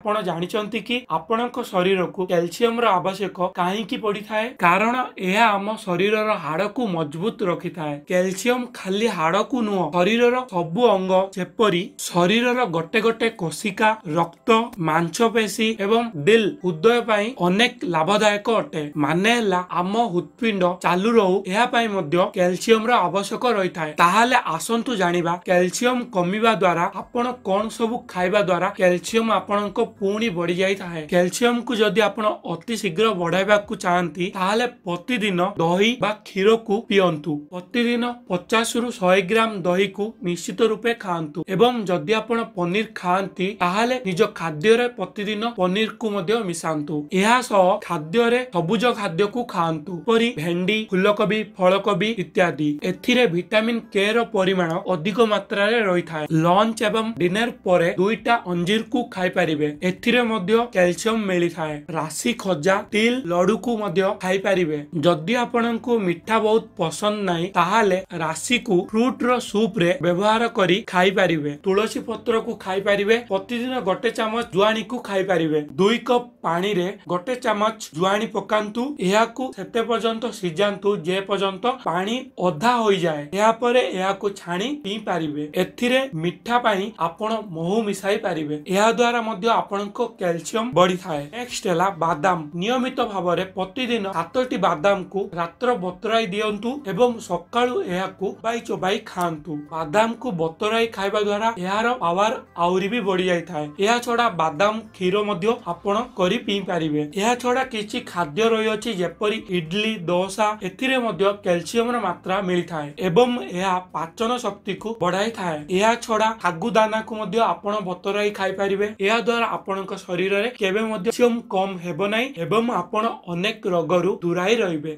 ଆପଣ ଜାଣିଛନ୍ତି କି ଆପଣଙ୍କ ଶରୀରକୁ କ୍ୟାଲସିୟମର ଆବଶ୍ୟକ କାହିଁକି ପଡିଥାଏ? କାରଣ ଏହା ଆମ ଶରୀରର ହାଡକୁ ମଜବୁତ ରଖିଥାଏ। କ୍ୟାଲସିୟମ ଖାଲି ହାଡକୁ ନୁହଁ, ଶରୀରର ସବୁ ଅଙ୍ଗ ଯେପରି ଶରୀରର ଗୋଟେ ଗୋଟେ କୋଶିକା, ରକ୍ତ, ମାଂସପେଶୀ ଏବଂ ଦିଲ୍ ହୃଦୟ ପାଇଁ ଅନେକ ଲାଭଦାୟକ ଅଟେ। ମାନେ ହେଲା ଆମ ହୃତ୍ପିଣ୍ଡ ଚାଲୁ ରହୁ, ଏହା ପାଇଁ ମଧ୍ୟ କ୍ୟାଲସିୟମର ଆବଶ୍ୟକ ରହିଥାଏ। ତାହେଲେ ଆସନ୍ତୁ ଜାଣିବା କ୍ୟାଲସିୟମ କମିବା ଦ୍ୱାରା ଆପଣ କଣ ସବୁ ଖାଇବା ଦ୍ୱାରା କ୍ୟାଲସିୟମ ଆପଣଙ୍କ ପୁଣି ବଢି ଯାଇଥାଏ। କ୍ୟାଲସିୟମକୁ ଯଦି ଆପଣ ଅତି ଶୀଘ୍ର ବଢାଇବାକୁ ଚାହାନ୍ତି, ତାହେଲେ ପ୍ରତିଦିନ ଦହି ବା କ୍ଷୀରକୁ ପିଅନ୍ତୁ। ପ୍ରତିଦିନ 50ରୁ 100 ଗ୍ରାମ ଦହିକୁ ନିଶ୍ଚିତ ରୂପେ ଖାଆନ୍ତୁ ଏବଂ ଯଦି ଆପଣ ପନିର ଖାଆନ୍ତି, ତାହେଲେ ନିଜ ଖାଦ୍ୟରେ ପ୍ରତିଦିନ ପନିରକୁ ମଧ୍ୟ ମିଶାନ୍ତୁ। ଏହା ସହ ଖାଦ୍ୟରେ ସବୁଜ ଖାଦ୍ୟକୁ ଖାଆନ୍ତୁ, ଯେପରି ଭେଣ୍ଡି, ଫୁଲକୋବି, ଫଳକୋବି ଇତ୍ୟାଦି। ଏଥିରେ ଭିଟାମିନ କେ ର ପରିମାଣ ଅଧିକ ମାତ୍ରାରେ ରହିଥାଏ। ଲଞ୍ଚ ଏବଂ ଡିନର ପରେ 2ଟା ଅଞ୍ଜିରକୁ ଖାଇପାରିବେ, ଏଥିରେ ମଧ୍ୟ କ୍ୟାଲସିୟମ ମିଳିଥାଏ। ରାଶି ଖଜା, ତିଲ ଲଡୁକୁ ମଧ୍ୟ ଖାଇପାରିବେ। ଯଦି ଆପଣଙ୍କୁ ମିଠା ବହୁତ ପସନ୍ଦ ନାହିଁ, ତାହେଲେ ରାଶିକୁ ଫ୍ରୁଟ ର ସୁପ ରେ ବ୍ୟବହାର କରି ଖାଇପାରିବେ। ତୁଳସୀ ପତ୍ରକୁ ଖାଇପାରିବେ। ପ୍ରତିଦିନ ଗୋଟେ ଚାମଚ ଜୁଆଣିକୁ ଖାଇପାରିବେ। 2 କପ୍ ପାଣିରେ ଗୋଟେ ଚାମଚ ଜୁଆଣି ପକାନ୍ତୁ। ଏହାକୁ ସେତେ ପର୍ଯ୍ୟନ୍ତ ସିଝାନ୍ତୁ ଯେ ପର୍ଯ୍ୟନ୍ତ ପାଣି ଅଧା ହୋଇଯାଏ। ଏହାପରେ ଏହାକୁ ଛାଣି ପିଇ ପାରିବେ। ଏଥିରେ ମିଠା ପାଇଁ ଆପଣ ମହୁ ମିଶାଇ ପାରିବେ। ଏହା ଦ୍ୱାରା ମଧ୍ୟ ଆପଣଙ୍କ କ୍ୟାଲସିୟମ ବଢିଥାଏ। ନେକ୍ସଟ ହେଲା ବାଦାମ। ନିୟମିତ ଭାବରେ ପ୍ରତିଦିନ 7ଟି ବାଦାମକୁ ରାତ୍ର ବତୁରାଇ ଦିଅନ୍ତୁ ଏବଂ ସକାଳୁ ଏହାକୁ ଚୋବାଇ ଚୋବାଇ ଖାଆନ୍ତୁ। ବାଦାମକୁ ବତୁରାଇ ଖାଇବା ଦ୍ୱାରା ଏହାର ପାୱାର ଆହୁରି ବି ବଢି ଯାଇଥାଏ। ଏହା ଛଡା ବାଦାମ କ୍ଷୀର ମଧ୍ୟ ଆପଣ କରି ପିଇ ପାରିବେ। ଏହା ଛଡା କିଛି ଖାଦ୍ୟ ରହିଅଛି ଯେପରି ଇଡଲି, ଦୋସା, ଏଥିରେ ମଧ୍ୟ କ୍ୟାଲସିୟମର ମାତ୍ରା ମିଳିଥାଏ ଏବଂ ଏହା ପାଚନ ଶକ୍ତିକୁ ବଢାଇଥାଏ। ଏହା ଛଡା ଶାଗୁ ଦାନାକୁ ମଧ୍ୟ ଆପଣ ବତୁରାଇ ଖାଇପାରିବେ। ଏହା ଦ୍ୱାରା ଆପଣଙ୍କ ଶରୀରରେ କେବେ ମଧ୍ୟ କ୍ୟାଲସିୟମ କମ ହେବ ନାହିଁ ଏବଂ ଆପଣ ଅନେକ ରୋଗରୁ ଦୂରାଇ ରହିବେ।